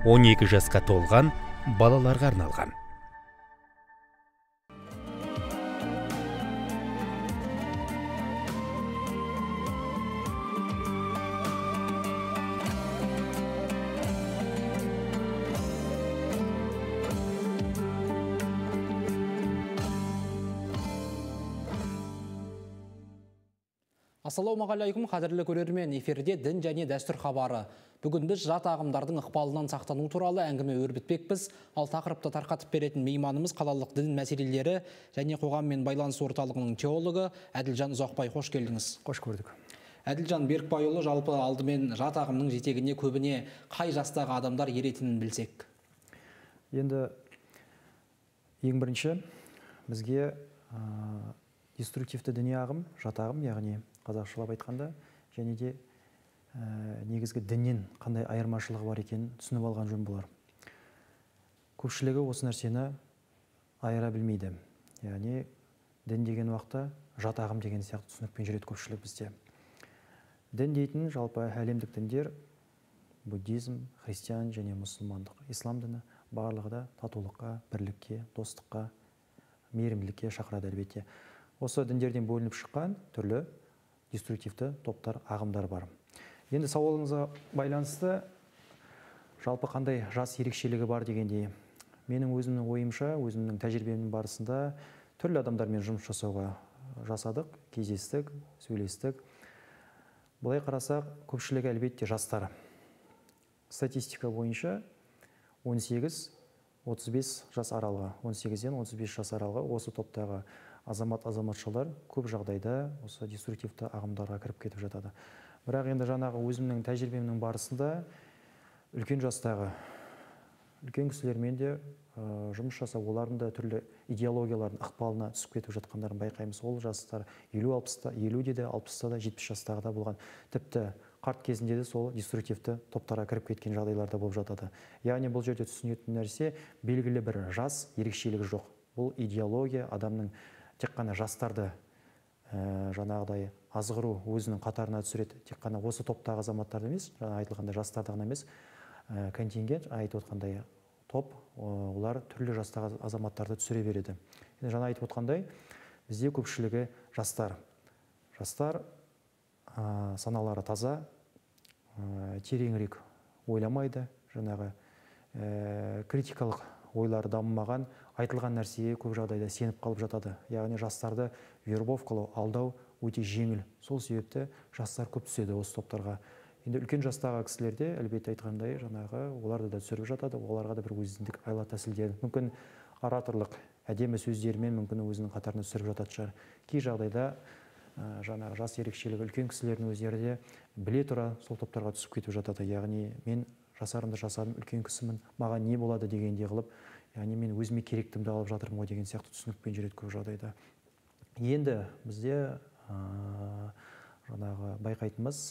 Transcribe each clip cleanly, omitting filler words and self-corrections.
12 жасқа толған балаларға арналған. Ассалаумағалейкум, қадірлі көрермен, эфирде дін және дәстүр хабары. Бүгін біз жат ағымдардың ықпалынан сақтану туралы әңгіме өрбітпекпіз. Ал тақырыпты тарқатып беретін мейманымыз қалалық дін мәселелері және қоғаммен байланыс орталығының теологы Әділжан Ұзақбай. Қош келдіңіз. Қош көрдік. Әділжан Берікбайұлы, жалпы алдымен жат ағымның жетегіне көбіне қай жастағы адамдар еретінін білсек? Енді ең бірінші бізге деструктивті діни ағым, жат ағым, яғни қазақшылап айтқанда, және де негізгі діннен қандай айырмашылығы бар екенін түсініп алған жөн болар. Көпшілігі осы нәрсені айыра білмейді. Яғни дін деген уақытта жат ағым деген сияқты түсінікпен жүреді көпшілік бізде. Дін дейтін жалпы әлемдік діндер буддизм, христиан және мұсылмандық, ислам діні барлығы да татулыққа, бірлікке, достыққа, мейірімділікке шақырады әлбетте. Осы діндерден бөлініп шыққан түрлі деструктивті топтар, ағымдар бар. Енді сауалыңызға байланысты жалпы қандай жас ерекшелігі бар дегенде, менің өзімнің ойымша, өзімнің тәжірибемнің барысында түрлі адамдармен жұмыс жасадық, кездестік, сөйлестік. Былай қарасақ, көпшілігі әлбетте жастар. Статистика бойынша 18-35 жас аралығы, 18-ден 35 жас аралығы осы топтағы азаматшалар көп жағдайда осы деструктивті ағымдарға кіріп кетіп жатады. Бірақ енді жаңағы өзімнің тәжірибемнің барысында үлкен жастағы, үлкен кісілермен де жұмыс жасап, олардың да түрлі идеологиялардың ықпалына түсіп кетіп жатқандарын байқаймыз. Ол жастар 50-де де, 60-та да, 70 жастағы да болған. Тіпті қарт кезінде де сол деструктивті топтарға кіріп кеткен жағдайларда болып жатады. Яғни бұл жерде түсінетін нәрсе белгілі бір жас ерекшелігі жоқ. Бұл идеология адамның тек қана жастарды жаңағыдай азғыру өзінің қатарына түсіреді. Тек қана осы топтағы азаматтарды емес, жаңа айтылғандай жастарды ғана емес, контингент, айтып отқандай топ, олар түрлі жастағы азаматтарды түсіре береді. Жаңа айтып отқандай, бізде көпшілігі жастар. Жастар саналары таза, тереңірек ойламайды, жаңағы критикалық ойлары дамымаған, айтылған нәрсеге көп жағдайда сеніп қалып жатады. Яғни жастарды вербовкалау, алдау өте жеңіл. Сол себепті жастар көп түседі осы топтарға. Енді үлкен жастағы кісілерде, әлбетте айтқандай, жаңағы оларды да түсіріп жатады, оларға да бір өзіндік айла тәсілдер, мүмкін ораторлық, әдемі сөздерімен мүмкін өзінің қатарына түсіріп жатады шығар. Кей жағдайда жаңағы жас ерекшелігі үлкен кісілердің өздері де біле тұра сол топтарға түсіп кетіп жатады. Яғни мен жасарымды жасадым, үлкен кісімін, маған не болады дегенде қылып, яғни мен өзіме керектімді алып жатырмын ғой деген сияқты түсінікпен жүреді көп жағдайда. Енді бізде жаңағы байқайтынымыз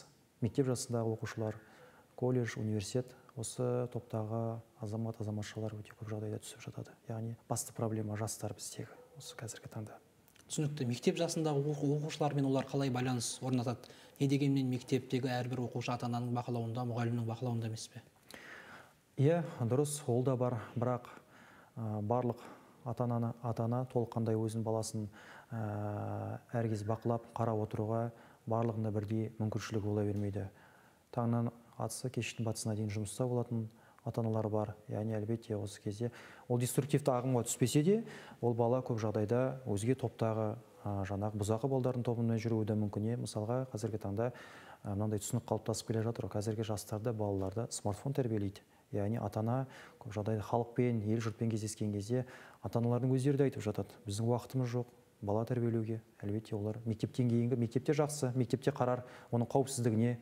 мектеп жасындағы оқушылар, колледж, университет, осы топтағы азаматшалар өте көп жағдайда түсіп жатады. Яғни басты проблема жастар біздегі осы қазіргі таңда. Түсінікті. Мектеп жасындағы оқушылармен олар қалай байланыс орнатады? Не дегенмен мектептегі әрбір оқушы ата-ананың бақылауында, мұғалімнің бақылауында емес пе? Иә, дұрыс, ол да бар, бірақ барлық ата-ана толыққандай өзінің баласын әркез бақылап, қарап отыруға барлығында бірдей мүмкіншілігі бола бермейді. Таңнан атысы, кештің батысына дейін жұмыста болатын ата-аналар бар. Яғни әлбетте осы кезде ол деструктивті ағымға түспесе де, ол бала көп жағдайда өзге топтағы жаңағы бұзақы балдардың тобына жүруі де мүмкін. Мысалға, қазіргі таңда мынандай түсінік қалыптасып келе жатыр. Қазіргі жастарды, балаларды смартфон тәрбиелейді. Яғни ата-ана көп жағдайда халықпен, ел жұртпен кездескен кезде ата-аналардың өздері де айтып жатады. Біздің уақытымыз жоқ бала тәрбиелеуге. Әлбетте олар мектептен кейінгі, мектепте жақсы, мектепте қарар, оның қауіпсіздігіне,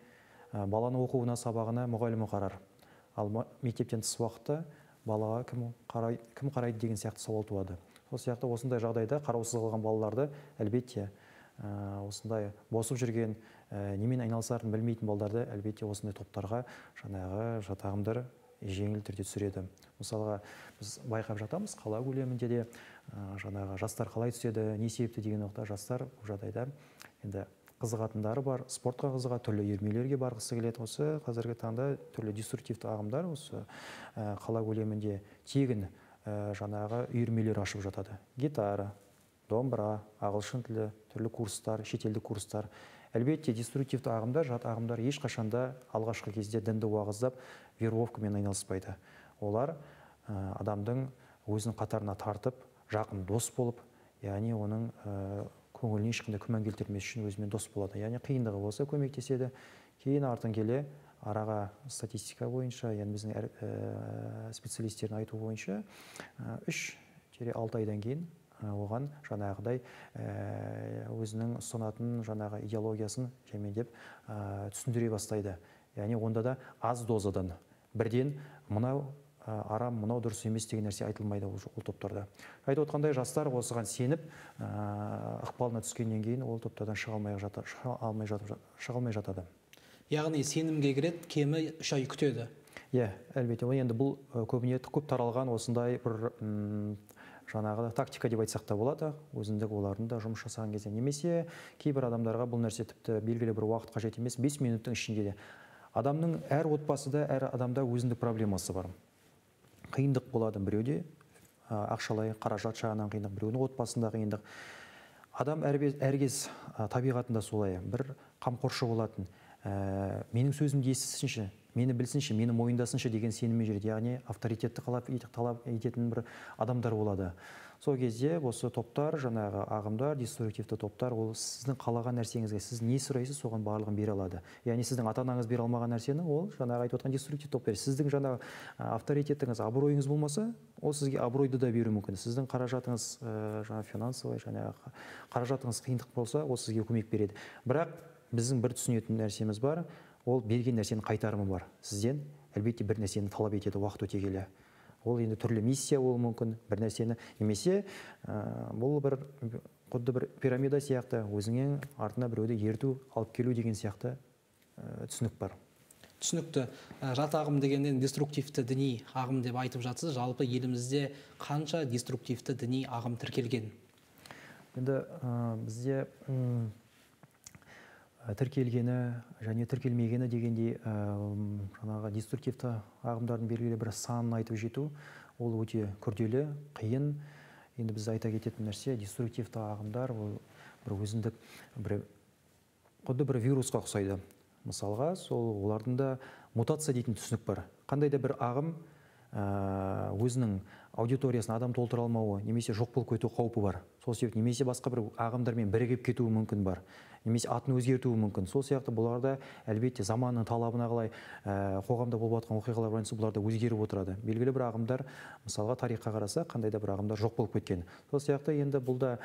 баланы оқуына, сабағына мұғалімі қарар. Ал мектептен тыс уақытта балаға кім қарайды деген сияқты сауал туады. Сол сияқты осындай жағдайда қараусыз қалған балаларды әлбетте осындай босып жүрген, немен айналысарын білмейтін балдарды әлбетте осындай топтарға жаңағы жат ағымдар жеңіл түрде түсіреді. Мысалға, біз байқап жатамыз, қала көлемінде де жаңағы жастар қалай түседі, не себепті деген уақытта жастар бұл жағдайда енді қызығатындары бар, спортқа қызығады, түрлі үйірмелерге барғысы келеді. Осы қазіргі таңда түрлі деструктивті ағымдар осы қала көлемінде тегін жаңағы үйірмелер ашып жатады. Гитара, домбыра, ағылшын тілі, түрлі курстар, шетелдік курстар. Әлбетте, деструктивті ағымдар, жат ағымдар ешқашанда алғашқы кезде дінді уағыздап, веровкамен айналыспайды. Олар адамдың өзінің қатарына тартып, жақын дос болып, яғни оның көңіліне ешқандай күмән келтірмес үшін өзімен дос болады. Яғни қиындығы болса көмектеседі. Кейін артын келе араға статистика бойынша, яғни біздің специалистердің айтуы бойынша 3-6 айдан кейін оған жаңағыдай өзінің ұсынатын жаңағы идеологиясын жемендеп түсіндіре бастайды. Яғни онда да аз дозадан бірден мынау арам, мынау дұрыс емес деген нәрсе айтылмайды ол топтарда. Айтып отқандай, жастар осыған сеніп ықпалына түскеннен кейін ол топтардан шыға алмай жатады. Яғни сенімге кіреді, кемі 3 ай күтеді. Әлбетте, енді бұл көбіне көп таралған осындай бір жаңағы тактика деп айтсақ та болады, өзіндік олардың да жұмыс жасаған кезде. Немесе кейбір адамдарға бұл нәрсе тіпті белгілі бір уақыт қажет емес, 5 минуттың ішінде де. Адамның әр отбасыда, әр адамда өзіндік проблемасы бар. Қиындық болады біреуде, ақшалай, қаражат жағынан қиындық, біреудің отбасында қиындық. Адам әркез табиғатында солай, бір қамқоршы болатын. Менің сөзімді естісінші, мені білсінші, мені мойындасыншы деген сеніммен жүреді. Яғни авторитетті талап ететін бір адамдар болады. Сол кезде осы топтар, жаңағы ағымдар, деструктивті топтар, ол сіздің қалаған нәрсеңізге, сіз не сұрайсыз, соған барлығын бере алады. Яғни сіздің ата-анаңыз бере алмаған нәрсені, ол жаңағы айтып отқан деструктивті топтар. Сіздің жаңағы авторитетіңіз, абыройыңыз болмаса, ол сізге абыройды да беруі мүмкін. Сіздің қаражатыңыз, жаңағы финансовый, жаңағы қаражатыңыз қиындық болса, ол сізге көмек береді. Бірақ біздің бір түсінетін нәрсеміз бар, ол берген нәрсенің қайтарымы бар. Сізден әлбетте бір нәрсені талап етеді уақыт өте келе. Ол енді түрлі миссия болуы мүмкін, бір нәрсені немесе бұл бір құдды бір пирамида сияқты, өзіңнен артына біреуді ерту, алып келу деген сияқты түсінік бар. Түсінікті. Жат ағым дегеннен деструктивті діни ағым деп айтып жатсыз. Жалпы елімізде қанша деструктивті діни ағым тіркелген? Енді бізде тіркелгені және тіркелмегені дегендей жаңағы деструктивті ағымдардың белгілі бір санын айтып жету, ол өте күрделі, қиын. Енді біз айта кететін нәрсе, деструктивті ағымдар ол бір өзіндік құдды бір вирусқа ұқсайды. Мысалға, олардың да мутация дейтін түсінік бар. Қандай да бір ағым өзінің аудиториясын адам толтыра алмауы, немесе жоқ болып кету қаупі бар. Сол себепті немесе басқа бір ағымдармен бірігіп кетуі мүмкін бар. Немесе атын өзгертуі мүмкін. Сол сияқты бұларда әлбетте заманның талабына қалай қоғамда болып жатқан оқиғалар байланысты бұларда өзгеріп отырады. Белгілі бір ағымдар, мысалға тарихқа қараса, қандай да бір ағымдар жоқ болып кеткен. Сол сияқты енді бұлда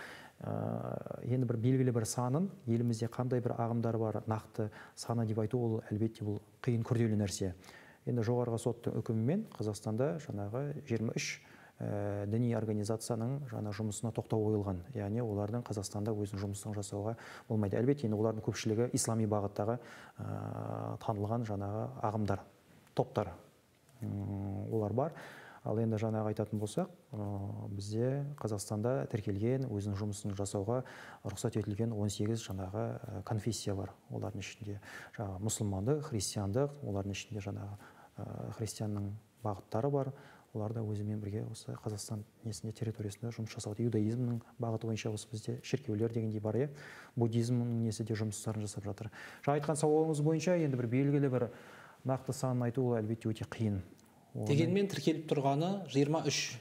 енді бір белгілі бір санын, елімізде қандай бір ағымдар бар, нақты саны деп айту, ол әлбетте бұл қиын күрделі нәрсе. Енді жоғарғы соттың үкімімен Қазақстанда жаңағы 23 діни организацияның жаңа жұмысына тоқтау қойылған. Яғни олардың Қазақстанда өзінің жұмысын жасауға болмайды. Әлбетте, енді олардың көпшілігі ислами бағыттағы танылған жаңағы ағымдар, топтар. Олар бар. Ал енді жаңағы айтатын болсақ, бізде Қазақстанда тіркелген, өзінің жұмысын жасауға рұқсат етілген 18 жаңағы конфессия бар. Олардың ішінде жаңағы мұсылмандық, христиандық, олардың ішінде жаңағы христианның бағыттары бар. Олар да өзімен бірге осы Қазақстан территориясында жұмыс жасауды. Иудаизмнің бағыты бойынша осы бізде шіркеулер дегендей бар, буддизмнің де жұмыстарын жасап жатыр. Жаңа айтқан сауалыңыз бойынша енді бір белгілі бір нақты санын айту әлбетте өте қиын. Дегенмен тіркеліп тұрғаны 23.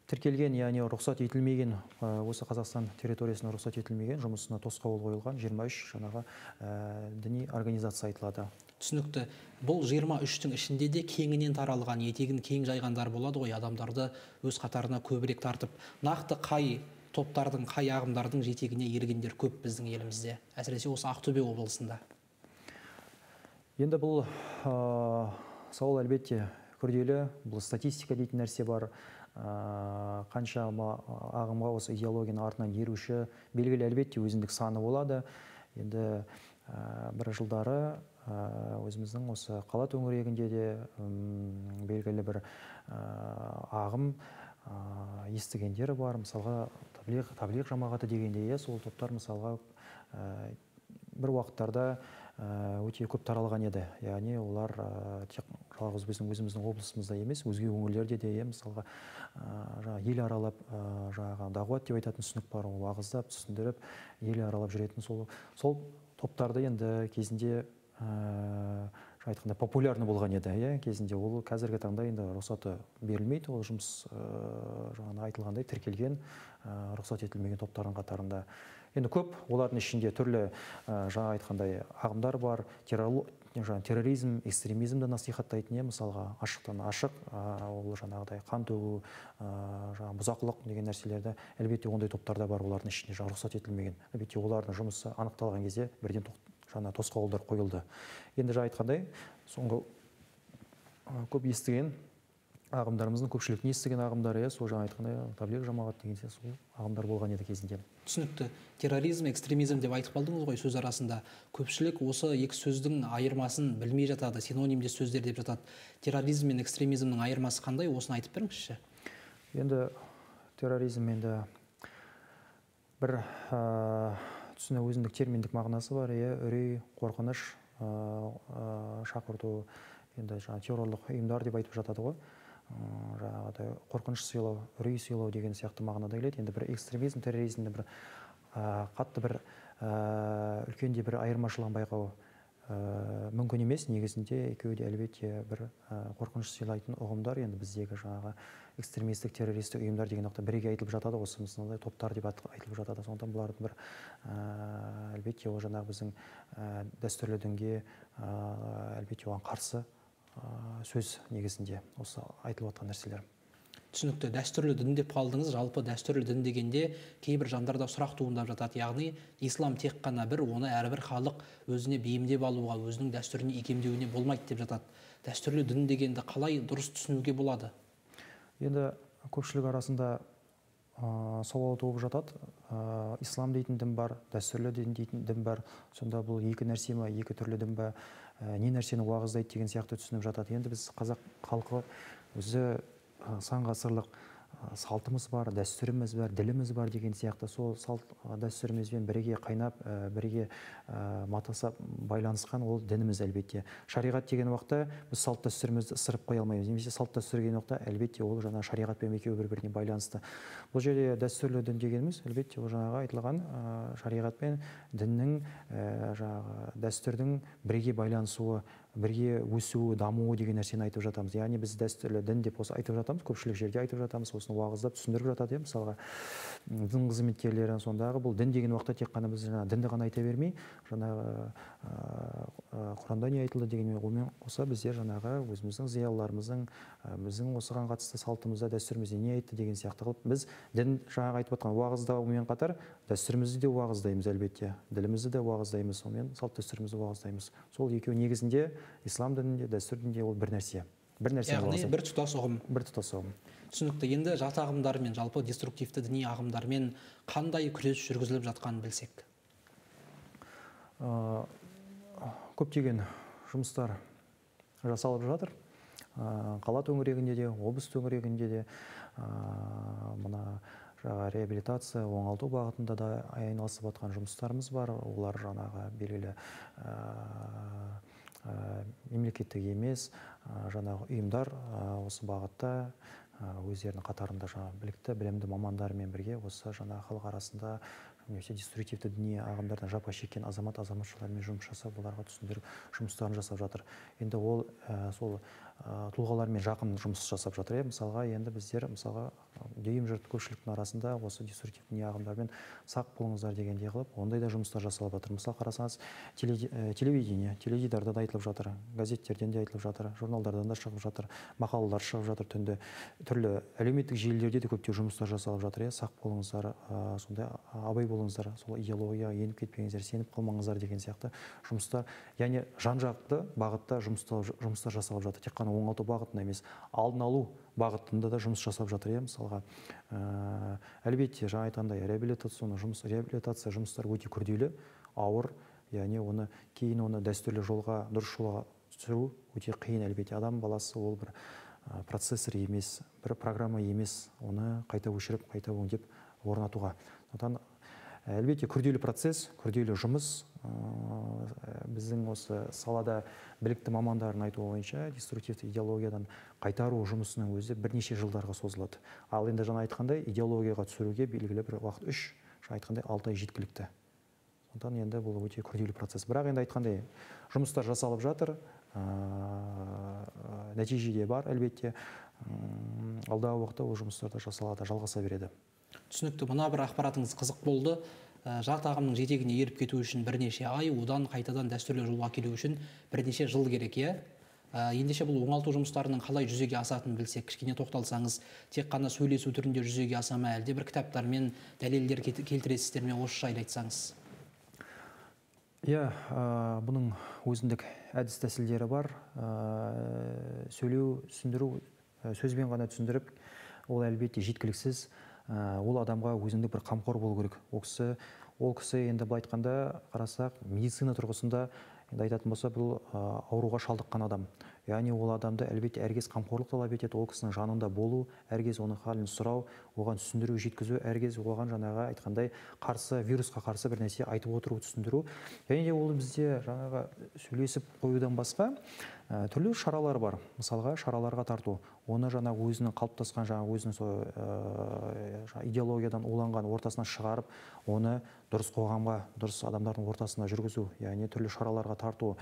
Тіркелген, яғни рұқсат етілмеген, осы Қазақстан территориясына рұқсат етілмеген, жұмысына тосқауыл қойылған 23 жаңағы діни организация айтылады. Түсінікті. Бұл 23-тің ішінде де кеңінен таралған, етегін кең жайғандар болады ғой, адамдарды өз қатарына көбірек тартып. Нақты қай топтардың, қай ағымдардың жетегіне ергендер көп біздің елімізде, әсіресе осы Ақтөбе облысында? Енді бұл сауал әлбетте күрделі, бұл статистика дейтін нәрсе бар. Қанша ағымға осы идеологияның артынан еруші белгілі әлбетте өзіндік саны болады. Енді бір жылдары өзіміздің осы қала төңірегінде де белгілі бір ағым естігендері бар. Мысалға таблиғ жамағаты дегенде, сол топтар мысалға бір уақыттарда өте көп таралған еді. Яғни олар тек жалғыз өзіміздің облысымызда емес, өзге өңірлерде де, мысалға ел аралап, дағуат деп айтатын түсінік бар, ол уағыздап, түсіндіріп, ел аралап жүретін сол топтарды енді кезінде айтқанда популярны болған еді, кезінде. Ол қазіргі таңда енді рұқсаты берілмейді, ол жұмыс айтылғандай тіркелген, рұқсат етілмеген топтардың қатарында. Енді көп, олардың ішінде түрлі айтқандай ағымдар бар, терроризм, экстремизмді насихаттайтын, мысалға ашықтан ашық, ол жаңағыдай қан төгу, бұзақылық деген нәрселерді, әлбетте ондай топтарда бар, олардың ішінде рұқсат етілмеген. Әлбетте олардың жұмысы анықталған кезде бірден тосқауылдар қойылды. Енді айтқандай, соңғы көп естіген ағымдарымыздың көпшіліктің естіген ағымдары, сол айтқандай таблиғ жамағат деген сол ағымдар болған еді кезінде. Түсінікті. Терроризм, экстремизм деп айтып қалдыңыз ғой сөз арасында. Көпшілік осы екі сөздің айырмасын білмей жатады, синонимдес сөздер деп жатады. Терроризм мен экстремизмнің айырмасы қандай? Осыны айтып беріңізші. Енді терроризм енді бір түсіне өзіндік терминдік мағынасы бар, үрей, қорқыныш, шақырту, енді террорлық ұйымдар деп айтып жатады ғой. Қорқыныш сыйлау, үрей сыйлау деген сияқты мағынада келеді. Енді бір экстремизм, терроризмді бір қатты бір үлкенде бір айырмашылығын байқау мүмкін емес. Негізінде екеуі де әлбетте бір қорқыныш сыйлайтын ұғымдар. Енді біздегі экстремистік, террористік ұйымдар деген бірге айтылып жатады, осы мысалда топтар деп айтылып жатады. Сондықтан бұлардың бір әлбетте ол біздің дәстүрлі дінге әлбетте оған қарсы сөз негізінде осы айтылып жатқан нәрселер. Түсінікті. Дәстүрлі дін деп қалдыңыз. Жалпы дәстүрлі дін дегенде кейбір жандарда сұрақ туындап жатады. Яғни ислам тек қана бір, оны әрбір халық өзіне бейімдеп алуға, өзінің дәстүріне икемдеуіне болмайды деп жатады. Дәстүрлі дін дегенді қалай дұрыс түсінуге болады? Енді көпшілік арасында сауал туып жатады. Ислам дейтін дін бар, дәстүрлі дін дейтін дін бар. Сонда бұл екі нәрсе ме, екі түрлі дін ба, не нәрсені уағыздайды деген сияқты түсініп жатады. Енді біз қазақ халқы өзі сан ғасырлық салтымыз бар, дәстүріміз бар, діліміз бар деген сияқты сол салт дәстүрімізбен бірге қайнап, бірге матасап байланысқан ол дініміз әлбетте. Шариғат деген уақытта біз салт дәстүрімізді ысырып қоя алмаймыз. Немесе салт дәстүр деген уақытта әлбетте ол шариғатпен екеуі бір-біріне байланысты. Бұл жерде дәстүрлі дін дегеніміз әлбетте ол айтылған шариғат пен діннің дәстүрдің бірге байланысуы, бірге өсуі, дамуы деген нәрсені айтып жатамыз. Яғни біз дәстүрлі дін деп осы айтып жатамыз, көпшілік жерде айтып жатамыз, осыны уағыздап түсіндіріп жатады. Мысалға дін қызметкерлері сондағы бұл дін деген уақытта тек қана біз дінді ғана айта бермей, Құранда не айтылды дегенмен олмен қоса біздер өзіміздің зиялыларымыздың біздің осыған қатысты салтымызда, дәстүрімізде не айтты деген сияқты қылып біз дін айтып жатқан уағыздаумен қатар дәстүрімізді де уағыздаймыз әлбетте, ділімізді де уағыздаймыз, сонымен салт дәстүрімізді уағыздаймыз. Сол екеуі негізінде ислам дінінде, дәстүр дінінде ол бір нәрсе. Яғни бір тұтас ұғым. Бір тұтас ұғым. Түсінікті. Енді жат ағымдармен, жалпы деструктивті діни ағымдармен қандай күрес жүргізіліп жатқанын білсек? Көптеген жұмыстар жасалып жатыр. Қала төңірегінде де, облыс төңірегінде де мына реабилитация, оңалту бағытында да айналысып жатқан жұмыстарымыз бар. Олар белгілі мемлекеттік емес ұйымдар осы бағытта өздерінің қатарында білікті, білімді мамандармен бірге осы халық арасында немесе деструктивті діни ағымдардан жапа шеккен азамат-азаматшалармен жұмыс жасап, оларға түсіндіріп жұмыстарын жасап жатыр. Енді ол сол тұлғалармен жақын жұмыс жасап жатыр. Мысалға, енді біздер дүйім жұрт көпшіліктің арасында осы деструктивті діни ағымдармен сақ болыңыздар дегендей қылып, ондай да жұмыстар жасалып жатыр. Мысалы, қарасаңыз, телевидение, теледидарда да айтылып жатыр, газеттерден де айтылып жатыр, журналдардан да шығып жатыр, мақалалар шығып жатыр, түрлі әлеуметтік желілерде де көптеген жұмыстар жасалып жатыр. Сақ болыңыздар, сондай абай болыңыздар, сол идеологияға еніп кетпеңіздер, сеніп қалмаңыздар деген сияқты жұмыстар, яғни жан-жақты бағытта жұмыстар жасалып жатыр. Тек қана оңалту бағытында емес, алдын алу бағытында да жұмыс жасап жатыр. Мысалға, әлбетте айтқандай реабилитация жұмыстары өте күрделі, ауыр, яғни кейін оны дәстүрлі жолға, дұрыс жолға түсіру өте қиын. Әлбетте адам баласы ол бір процессор емес, бір программа емес, оны қайта өшіріп, қайта өңдеп орнатуға. Әлбетте күрделі процесс, күрделі жұмыс, біздің осы салада білікті мамандардың айтуы бойынша деструктивті идеологиядан қайтару жұмысының өзі бірнеше жылдарға созылады. Ал енді жаңа айтқандай идеологияға түсіруге белгілі бір уақыт 3, айтқандай 6 ай жеткілікті. Сондықтан енді бұл өте күрделі процесс. Бірақ енді айтқандай жұмыстар жасалып жатыр, нәтиже бар әлбетте. Алдағы уақытта ол жұмыстар да жасалады, жалғаса береді. Түсінікті. Мына бір ақпаратыңыз қызық болды. Жат ағымның жетегіне еріп кету үшін бірнеше ай, одан қайтадан дәстүрлі жолға келу үшін бірнеше жыл керек, иә? Ендеше бұл оңалту жұмыстарының қалай жүзеге асатынын білсек, кішкене тоқталсаңыз, тек қана сөйлесу түрінде жүзеге аса ма, әлде бір кітаптармен дәлелдер келтіресіздер ме, осы жайлы айтсаңыз? Иә, бұның өзіндік әдіс тәсілдері бар. Сөйлеу, түсіндіру, сөзбен ғана түсіндіріп, ол әлбетте жеткіліксіз. Ол адамға өзіндік бір қамқор болу керек. Ол кісі енді былай айтқанда қарасақ, медицина тұрғысында енді айтатын болса, бұл ауруға шалдыққан адам. Яғни ол адамды әлбетте әркез қамқорлық талап етеді, ол кісінің жанында болу, әркез оның халін сұрау, оған түсіндіру, жеткізу, әркез оған жаңағы айтқандай вирусқа қарсы бір нәрсе айтып отыру, түсіндіру. Және де ол бізде жаңағы сөйлесіп қоюдан басқа түрлі шаралар бар. Мысалға, шараларға тарту. Оны жаңа өзінің қалыптасқан, жаңа өзінің идеологиядан уланған ортасына шығарып, оны дұрыс қоғамға, дұрыс адамдардың ортасына жүргізу, яғни түрлі шараларға тарту.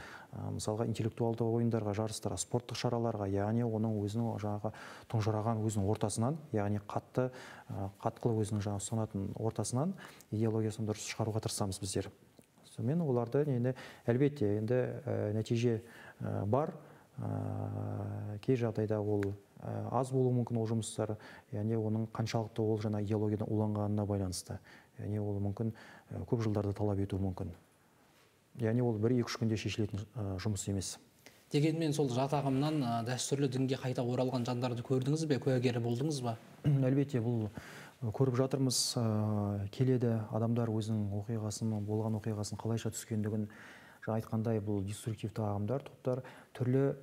Мысалға, интеллектуалды ойындарға, жарыстарға, спорттық шараларға, яғни оның өзінің жаңағы тұнжыраған өзінің ортасынан, яғни қатқылы өзінің жаңа ұстанатын ортасынан идеологиясын дұрыс шығаруға тырысамыз біздер. Мен оларды әлбетте енді нәтиже бар, кей жағдайда ол аз болуы мүмкін ол жұмыстар, яғни оның қаншалықты ол жаңа идеологиядан уланғанына байланысты. Яғни ол мүмкін көп жылдарды талап етуі мүмкін. Яғни ол 1-2 күнде шешілетін жұмыс емес. Дегенмен сол жат ағымнан дәстүрлі дінге қайта оралған жандарды көрдіңіз бе, куәгері болдыңыз ба? Әлбетте бұл көріп жатырмыз, келеді адамдар өзінің болған оқиғасын қалайша түскендігін айтқандай, бұл деструктивті ағымдар, топтар түрлі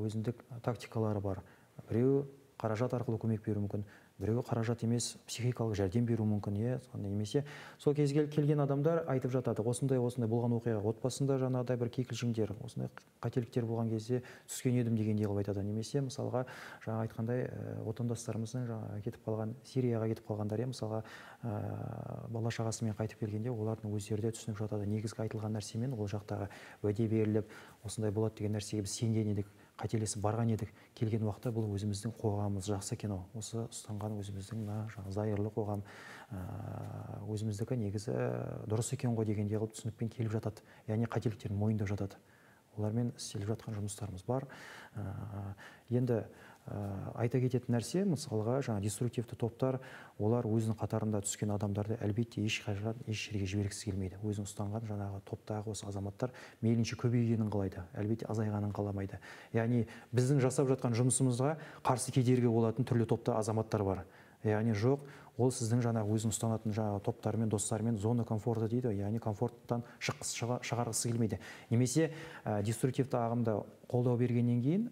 өзіндік тактикалары бар. Біреу қаражат арқылы көмек беру мүмкін, біреу қаражат емес, психикалық жәрдем беру мүмкін, немесе сол кезге келген адамдар айтып жатады, осындай болған оқиға, отбасында жаңағыдай бір кикілжіңдер, осындай қателіктер болған кезде түскен едім дегендей қылып айтады. Немесе мысалға жаңа айтқандай отандастарымыздың кетіп қалған, Сирияға кетіп қалғандар, мысалға бала шағасымен қайтып келгенде олардың өздері де түсініп жатады. Негізгі айтылған нәрсемен ол жақтағы уәде беріліп, осындай болады деген нәрсеге біз сенген едік, қателесіп барған едік, келген уақытта бұл өзіміздің қоғамымыз жақсы екен, осы ұстанған өзіміздің зайырлы қоғам, өзіміздікі негізі дұрыс екен ғой дегендей қылып түсінікпен келіп жатады, яғни қателіктерін мойындап жатады. Олармен істеліп жатқан жұмыстарымыз бар. Енді айта кететін нәрсе, мысалға деструктивті топтар, олар өзінің қатарында түскен адамдарды әлбетте еш жерге жібергісі келмейді. Өзінің ұстанған жаңағы топтағы осы азаматтар мейлінше көбейгенін қалайды, әлбетте азайғанын қаламайды. Яғни біздің жасап жатқан жұмысымызға қарсы кедергі болатын түрлі топта азаматтар бар. Яғни жоқ, ол сіздің жаңағы өзінің ұстанатын топтарымен, достарымен зона комфорта дейді, яғни комфорттан шығарғысы келмейді. Немесе деструктивті ағымда қолдау бергеннен кейін,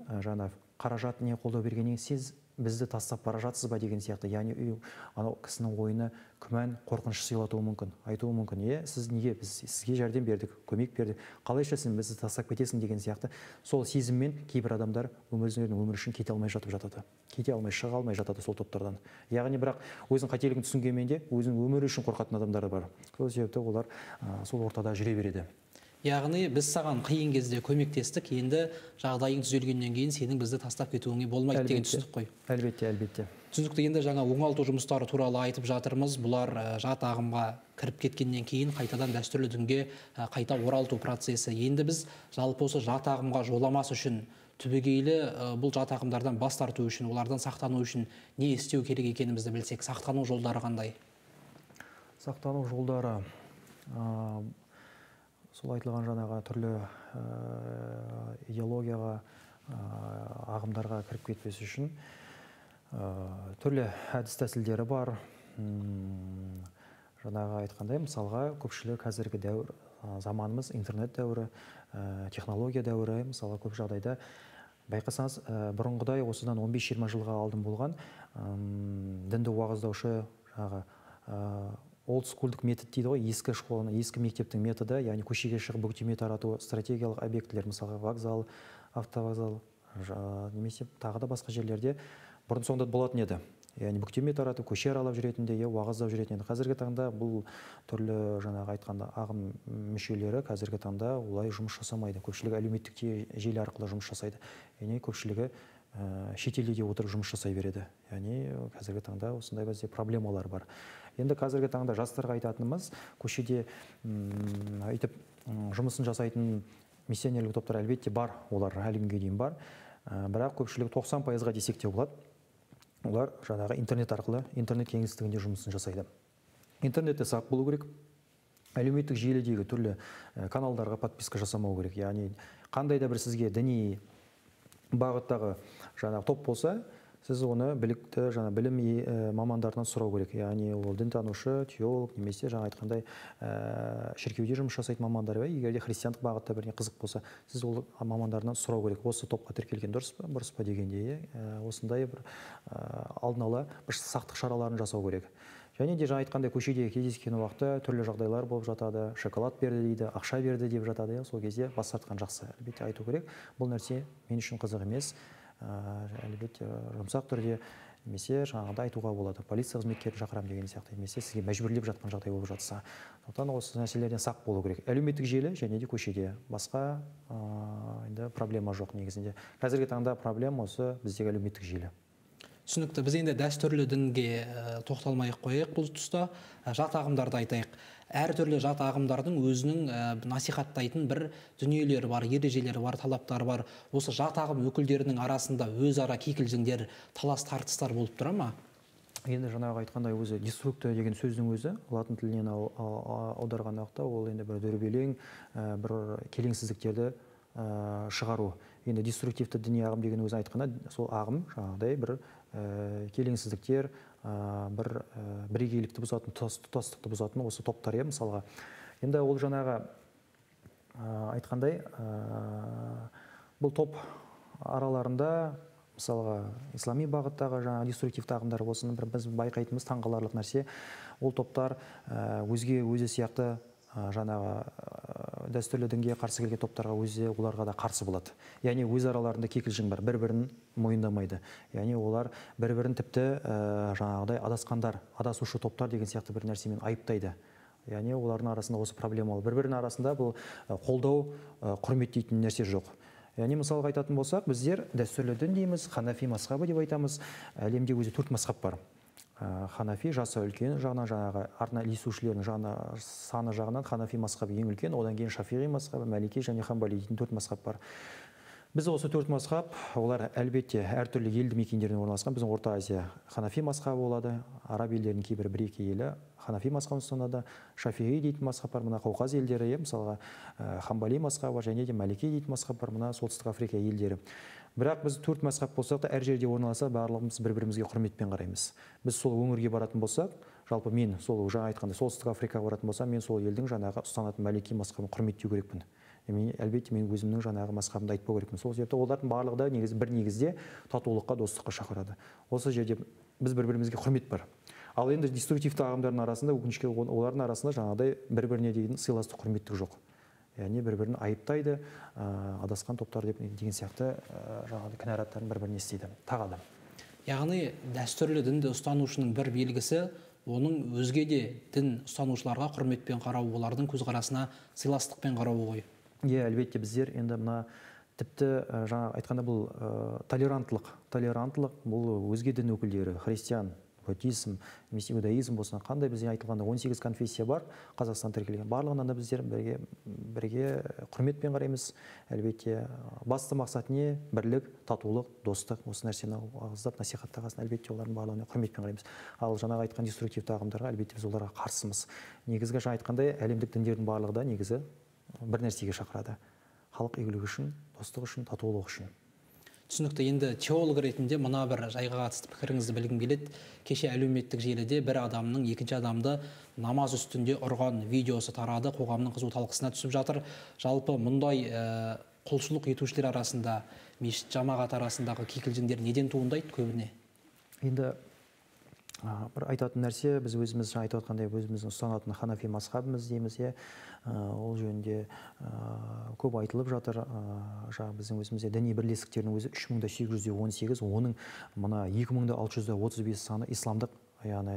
қаражат не қолдау бергеннен кейін сіз бізді тастап бара жатсыз ба деген сияқты, яғни анау кісінің ойына күмән, қорқыныш сыйлатуы мүмкін, айтуы мүмкін, сіз неге, біз сізге жәрдем бердік, көмек бердік, қалайша сен бізді тастап кетесің деген сияқты. Сол сезіммен кейбір адамдар өздерінің өмірі үшін кете алмай жатып жатады, кете алмай, шыға алмай жатады сол топтардан. Яғни бірақ өзінің қателігін түсінгенмен де өзінің өмірі үшін қорқатын адамдар бар. Сол себепті олар сол ортада жүре береді. Яғни біз саған қиын кезде көмектестік, енді жағдайың түзелгеннен кейін сенің бізді тастап кетуіңе болмайды деген түсінік қой. Әлбетте. Түсінікті. Енді жаңа оңалту жұмыстары туралы айтып жатырмыз. Бұлар жат ағымға кіріп кеткеннен кейін қайтадан дәстүрлі дінге қайта оралту процесі. Енді біз жалпы осы жат ағымға жоламас үшін, түбегейлі бұл жат ағымдардан бас тарту үшін, олардан сақтану үшін не істеу керек екенімізді білсек, сақтану жолдары қандай? Сақтану жолдары сол айтылған жаңағы түрлі идеологияға, ағымдарға кіріп кетпес үшін түрлі әдіс тәсілдері бар. Жаңағы айтқандай, мысалға көпшілік қазіргі дәуір, заманымыз интернет дәуірі, технология дәуірі, мысалға көп жағдайда байқасаңыз, бұрынғыдай осыдан 15-20 жылға алдын болған дінді уағыздаушы олдскулдық метод дейді ғой, ескі школаның, ескі мектептің методы, яғни көшеге шығып бүктеме тарату стратегиялық объектілер, мысалы вокзал, автовокзал, немесе тағы да басқа жерлерде бұрын соңды болатын еді. Яғни бүктеме тарату, көше аралап жүретінде, уағыздап жүретін еді. Қазіргі таңда бұл түрлі жаңағы айтқанда ағым мүшелері қазіргі таңда олай жұмыс жасамайды. Көпшілігі әлеуметтік желі арқылы жұмыс жасайды. Яғни көпшілігі шетелде отырып жұмыс жасай береді. Яғни қазіргі таңда осындай бізде проблемалар бар. Енді қазіргі таңда жастарға айтатынымыз, көшеде айтып жұмысын жасайтын миссионерлік топтар әлбетте бар, олар әлі күнге дейін бар. Бірақ көпшілігі 90%-ға десек те болады. Олар жаңағы интернет арқылы, интернет кеңістігінде жұмысын жасайды. Интернетте сақ болу керек. Әлеуметтік желідегі түрлі каналдарға подписка жасамау керек. Яғни қандай да бір сізге діни бағыттағы жаңағы топ болса, сіз оны білікті білім мамандарынан сұрау керек. Яғни ол дінтанушы, теолог, немесе жаңа айтқандай шіркеуде жұмыс жасайтын мамандар, егер де христиандық бағытта біріне қызық болса, сіз ол мамандарынан сұрау керек. Осы топқа тіркелген дұрыс па дегенде, осындай бір алдын ала бір сақтық шараларын жасау керек. Және де жаңа айтқандай көшеде кездескен уақытта түрлі жағдайлар болып жатады, шоколад берді дейді, ақша берді деп жатады. Сол кезде бас тартқан жақсы, әлбетте айту керек. Бұл нәрсе мен үшін қызық емес. Әлбетте жұмсақ түрде немесе жаңағыда айтуға болады. Полиция қызметкерін шақырам деген сияқты, немесе сізге мәжбүрлеп жатқан жағдай болып жатса. Сондықтан осы нәрселерден сақ болу керек. Әлеуметтік желі және де көшеде басқа енді проблема жоқ негізінде. Қазіргі таңда проблема осы біздегі әлеуметтік желі. Түсінікті. Біз енді дәстүрлі дінге тоқталмай-ақ қояйық бұл тұста. Жат ағымдарды айтайық. Әртүрлі жат ағымдардың өзінің насихаттайтын бір дүниелері бар, ережелері бар, талаптары бар. Осы жат ағым өкілдерінің арасында өзара кикілжіңдер, талас тартыстар болып тұра ма? Енді жаңағы айтқандай өзі деструкция деген сөздің өзі латын тілінен аударған уақытта ол енді бір дүрбелең, бір келеңсіздіктерді шығару. Енді деструктивті діни ағым деген өзі айтқанда, сол ағым жаңағыдай бір келеңсіздіктер, бір бірегейлікті бұзатын, тұтастықты бұзатын осы топтар, мысалға. Енді ол жаңағы айтқандай, бұл топ араларында мысалға ислами бағыттағы жаңа деструктивті ағымдар болсын, біз байқайтынымыз таңғаларлық нәрсе, ол топтар өзі сияқты жаңағы дәстүрлі дінге қарсы келген топтарға оларға да қарсы болады. Яғни өз араларында кикілжің бар, бір-бірін мойындамайды. Яғни олар бір-бірін тіпті жаңағыдай адасқандар, адасушы топтар деген сияқты бір нәрсемен айыптайды. Яғни олардың арасында осы проблемалы. Бір-бірінің арасында бұл қолдау, құрметтейтін нәрсе жоқ. Яғни мысалға айтатын болсақ, біздер дәстүрлі дін дейміз, ханафи мазхабы деп айтамыз. Әлемде өзі 4 мазхаб бар. Ханафи жасы үлкен жағынан, жаңағы артына ілесушілердің саны жағынан ханафи мазхабы ең үлкен, одан кейін шафиғи мазхабы, мәлики және хамбали дейтін 4 мазхаб бар. Біз осы 4 мазхаб, олар әлбетте әртүрлі елді мекендерден орналасқан. Біздің Орта Азия ханафи мазхабы болады, араб елдерінің кейбір бір-екі елі ханафи мазхабын ұстанады, шафиғи дейтін мазхаб бар, мына Қауқаз елдері, мысалға хамбали мазхабы және де мәлики дейтін мазхаб бар, мына Солтүстік Африка елдері. Бірақ біз 4 мазхаб болсақ та, әр жерде орналаса, барлығымыз бір-бірімізге құрметпен қараймыз. Біз сол өңірге баратын болсақ, жалпы мен сол жаңа айтқанда Солтүстік Африкаға баратын болсам, мен сол елдің жаңағы ұстанатын мәлики мазхабын құрметтеу керекпін. Әлбетте мен өзімнің жаңағы мазхабымды айтпау керекпін. Сол себепті олардың барлығы да бір негізде татулыққа, достыққа шақырады. Осы жерде біз бір-бірімізге құрмет бар. Ал енді деструктивті ағымдардың арасында, өкінішке олардың арасында жаңағыдай бір-біріне деген сыйластық, құрметтік жоқ. Яғни бір-бірін айыптайды, адасқан топтар деген сияқты жаңағы кінәраттарын бір-біріне істейді, тағады. Яғни дәстүрлі дінді ұстанушының бір белгісі, оның өзге де дін ұстанушыларға құрметпен қарау, олардың көзқарасына сыйластықпен қарау ғой. Әлбетте біздер енді мына тіпті жаңа айтқанда бұл толерантлық бұл өзге дін өкілдері, христиан, буддизм, немесе иудаизм болсын, қандай бізде айтылғанда 18 конфессия бар, Қазақстан тіркелген. Барлығынан да біздер бірге құрметпен қараймыз. Әлбетте басты мақсат не? Бірлік, татулық, достық, осы нәрсені ауыздап насихаттағасын, әлбетте олардың барлығына құрметпен қараймыз. Ал жаңағы айтқан деструктивті ағымдарға әлбетте біз оларға қарсымыз. Негізгі жаңа айтқандай әлемдік діндердің барлығы да негізі бір нәрсеге шақырады. Халық игілігі үшін, достық үшін, татулық үшін. Түсінікті. Енді теолог ретінде мына бір жайға қатысты пікіріңізді білгім келеді. Кеше әлеуметтік желіде бір адамның екінші адамды намаз үстінде ұрған видеосы тарады, қоғамның қызу талқысына түсіп жатыр. Жалпы мұндай құлшылық етушілер арасында, мешіт жамағат арасындағы кикілжіңдер неден туындайды көбіне? Енді бір айтатын нәрсе, біз өзіміз айтып отқандай өзіміздің ұстанатын ханафи мазхабымыз дейміз, ол жөнінде көп айтылып жатыр. Жаңағы біздің өзімізде діни бірлестіктердің өзі 3818, оның мына 2635 саны исламдық, яғни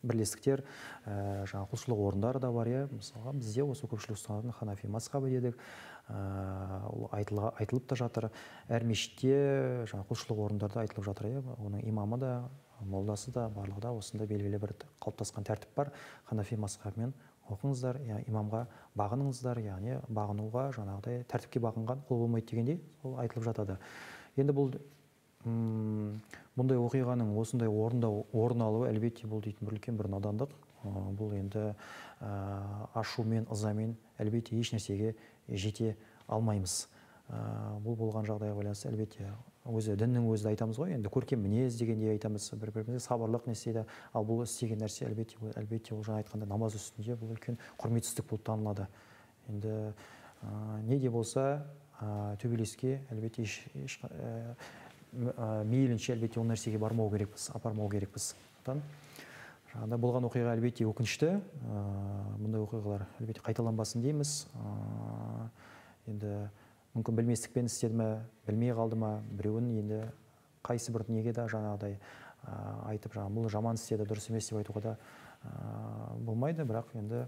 бірлестіктер, жаңа құлшылық орындары да бар. Мысалға бізде осы көпшілік ұстанатын ханафи мазхабы дедік, айтылып та жатыр. Әр мешітте жаңа құлшылық орындарда айтылып жатыр. Оның имамы да, молдасы да, барлығы да осында белгілі бір қалыптасқан тәртіп бар. Ханафи мазхабымен оқыңыздар, имамға бағыныңыздар, яғни бағынуға жаңағыдай тәртіпке бағынған құл болмайды дегендей ол айтылып жатады. Енді бұл бұндай оқиғаның осындай орын алуы әлбетте бұл дейтін бір үлкен бір надандық. Бұл енді ашумен, ызамен әлбетте еш нәрсеге жете алмаймыз. Бұл болған жағдайға байланысты әлбетте өзі діннің өзі айтамыз ғой, енді көркем мінез дегенде айтамыз, бір-бірімізге сабырлық не істейді. Ал бұл істеген нәрсе әлбетте ол жаңа айтқанда намаз үстінде бұл үлкен құрметсіздік болып танылады. Енді не де болса төбелеске әлбетте мейлінше әлбетте ол нәрсеге бармау керекпіз, апармау керекпіз. Жаңағыда болған оқиға әлбетте өкінішті, бұндай оқиғалар әлбетте қайталанбасын дейміз. Енді мүмкін білместікпен істеді ме, білмей қалды ма, біреуін енді қайсы бір неге де жаңағыдай айтып, бұл жаман істеді, дұрыс емес деп айтуға да болмайды. Бірақ енді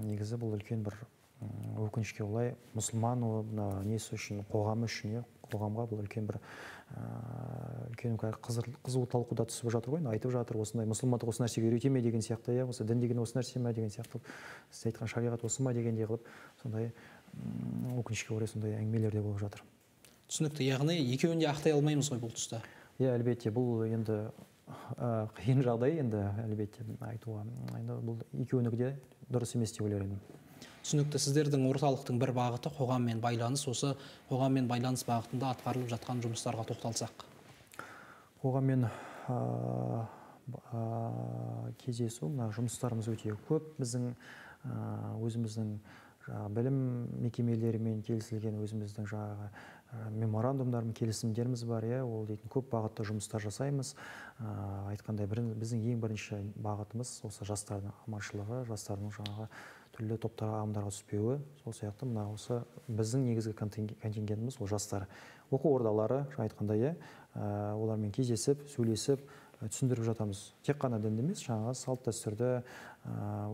негізі бұл үлкен бір өкінішке олай мұсылман несі үшін, қоғамы үшін, қоғамға бұл үлкен бір қызу талқыда түсіп жатыр ғой, айтып жатыр, осындай мұсылмандық осы нәрсеге үйрете ме деген сияқты, осы дін деген осы нәрсе ме деген сияқты, сіз айтқан шариғат осы ма дегендей қылып, сондай өкінішке орай сондай әңгімелер де болып жатыр. Түсінікті, яғни екеуін де ақтай алмаймыз ғой бұл тұста. Әлбетте бұл енді қиын жағдай, енді әлбетте айтуға, бұл екеуінікі де дұрыс емес деп ойлаймын. Түсінікті, сіздердің орталықтың бір бағыты қоғаммен байланыс, осы қоғаммен байланыс бағытында атқарылып жатқан жұмыстарға тоқталсақ. Қоғаммен кездесу, жұмыстарымыз өте көп. Біздің өзіміздің білім мекемелерімен келісілген өзіміздің жаңағы меморандумдармен келісімдеріміз бар, ол дейтін көп бағытты жұмыстар жасаймыз. Айтқандай біздің ең бірінші бағытымыз осы жастардың аманшылығы, жастардың жаңағы түрлі топтарға, ағымдарға түспеуі. Сол сияқты мына осы біздің негізгі контингентіміз ол жастар. Оқу ордалары, айтқандай, олармен кездесіп, сөйлесіп, түсіндіріп жатамыз. Тек қана дінді емес, жаңағы салт дәстүрді,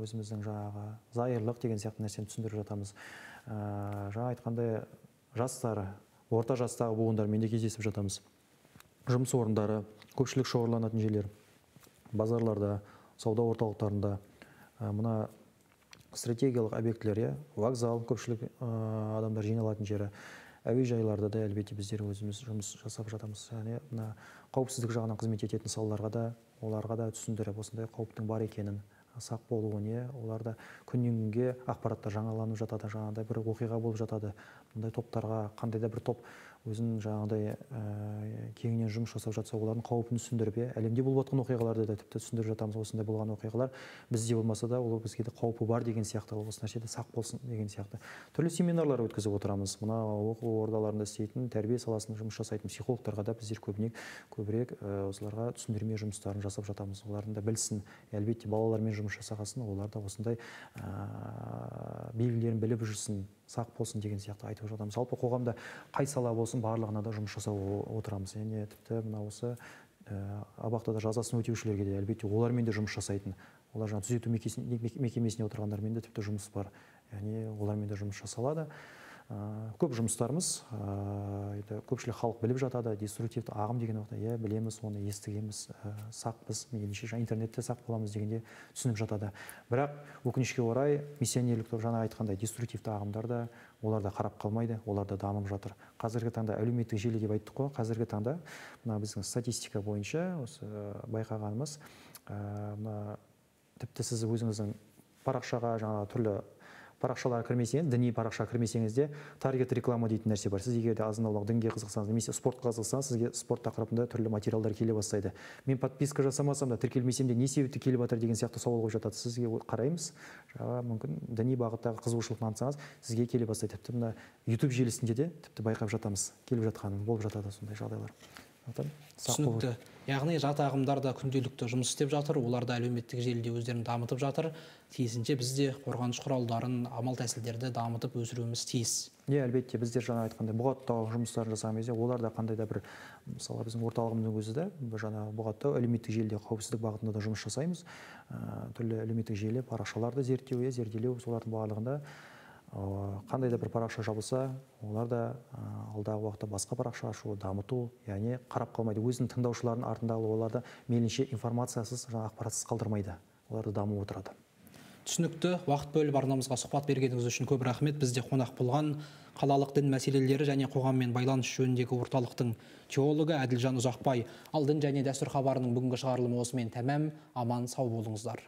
өзіміздің жаңағы зайырлық деген сияқты нәрсені түсіндіріп жатамыз. Жаңа айтқандай жастары, орта жастағы буындармен де кездесіп жатамыз. Жұмыс орындары, көпшілік шоғырланатын жерлер, базарларда, сауда орталықтарында, мына стратегиялық объектілер, вокзал, көпшілік адамдар жиналатын жері, әуежайларда да әлбетте біздер өзіміз жұмыс жасап жатамыз. Яғни мына қауіпсіздік жағынан қызмет ететін салаларға да, оларға да түсіндіріп, осындай қауіптің бар екенін, сақ болуын, оларда күннен күнге ақпараттар жаңаланып жатады, жаңағыдай бір оқиға болып жатады. Бұндай топтарға қандай да бір топ өзін жаңағыдай кеңінен жұмыс жасап жатса, олардың қауіпін түсіндіріп, әлемде болып жатқан оқиғаларды да тіпті түсіндіріп жатамыз. Осындай болған оқиғалар бізде болмаса да, ол бізге де қаупі бар деген сияқты, осы нәрседе сақ болсын деген сияқты. Түрлі семинарлар өткізіп отырамыз. Мына оқу ордаларында істейтін, тәрбие саласында жұмыс жасайтын психологтарға да біздер көбірек осыларға түсіндірме жұмыстарын жасап жатамыз. Олардың да білсін, әлбетте балалармен жұмыс жасағасын, олар да осындай белгілерін біліп жүрсін, сақ болсын деген сияқты айтып жатамыз. Жалпы қоғамда қай сала болсын, барлығына да жұмыс жасап отырамыз. Яғни тіпті мына осы абақтыда жазасын өтеушілерге де әлбетте олармен де жұмыс жасайтын. Олар жаңа түзету мекемесіне отырғандармен де тіпті жұмыс бар. Яғни олармен де жұмыс жасалады. Көп жұмыстарымыз, көпшілік халық біліп жатады, деструктивті ағым деген уақытта, білеміз, оны естігеміз, сақпыз, мейлінше интернетте сақ боламыз дегенде түсініп жатады. Бірақ өкінішке орай миссионерлік жаңа айтқандай деструктивті ағымдар да, олар да қарап қалмайды, олар да дамып жатыр. Қазіргі таңда әлеуметтік желі деп айттық қой, қазіргі таңда мына біздің статистика бойынша осы байқағанымыз, тіпті сіз өзіңіздің парақшаға жаңа түрлі парақшаларға кірмесеңіз, діни парақшаға кірмесеңізде таргет реклама дейтін нәрсе бар. Сіз егер де азын-аулақ дінге қызықсаңыз, немесе спортқа қызықсаңыз, сізге спорт тақырыбында түрлі материалдар келе бастайды. Мен подписка жасамасам да, тіркелмесем де не себепті келіп жатыр деген сияқты сауал қойып жатады. Сізге қараймыз, мүмкін діни бағыттағы қызығушылық танытсаңыз, сізге келе бастайды. Тіпті мына YouTube желісінде де тіпті байқап жатамыз, келіп жатқанын, болып жатады сондай жағдайлар. Түсінікті. Яғни жат ағымдар да күнделікті жұмыс істеп жатыр, олар да әлеуметтік желіде өздерін дамытып жатыр. Тиісінше біз де қорғаныш құралдарын, амал тәсілдерді дамытып өсіруіміз тиіс. Әлбетте біздер жаңа айтқандай бұғаттау жұмыстарын жасаған кезде олар да қандай да бір, мысалы біздің орталығымыздың өзі де жаңа бұғаттау әлеуметтік желіде қауіпсіздік бағытында да жұмыс жасаймыз. Түрлі әлеуметтік желі парақшаларды зерделеу, солардың барлығында қандай да бір парақша жабылса, олар да алдағы уақытта басқа парақша ашу, дамыту, яғни қарап қалмайды. Өзінің тыңдаушылардың артындағы оларды мейлінше информациясыз, ақпаратсыз қалдырмайды. Оларды дамып отырады. Түсінікті. Уақыт бөліп арнамызға сұхбат бергеніңіз үшін көп рахмет. Бізде қонақ болған қалалық дін мәселелері және қоғаммен байланыс жөніндегі орталықтың теологы Әділжан Ұзақбай. Ал дін және дәстүр хабарының бүгінгі шығарылымы осымен тәмам. Аман сау болыңыздар.